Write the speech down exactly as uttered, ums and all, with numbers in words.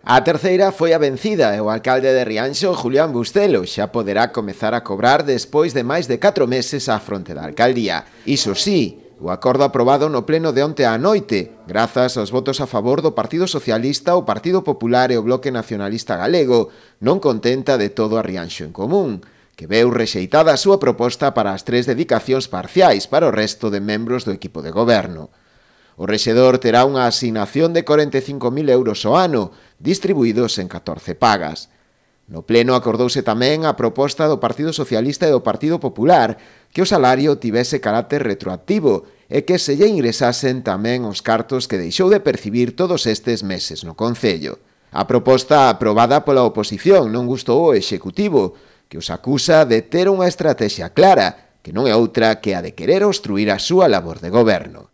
A terceira foi a vencida e o alcalde de Rianxo, Julián Bustelo, xa poderá comezar a cobrar despois de máis de catro meses á fronte da alcaldía. Iso sí, o acordo aprobado no pleno de onte á noite, grazas aos votos a favor do Partido Socialista, o Partido Popular e o Bloque Nacionalista Galego, non contenta de todo a Rianxo en Común, que veu rexeitada a súa proposta para as tres dedicacións parciais para o resto de membros do equipo de goberno. O rexedor terá unha asignación de corenta e cinco mil euros ao ano, distribuídos en catorce pagas. No pleno acordouse tamén a proposta do Partido Socialista e do Partido Popular que o salario tivese carácter retroactivo e que se lle ingresasen tamén os cartos que deixou de percibir todos estes meses no Concello. A proposta aprobada pola oposición non gustou ao Executivo, que os acusa de ter unha estrategia clara, que non é outra que a de querer obstruir a súa labor de goberno.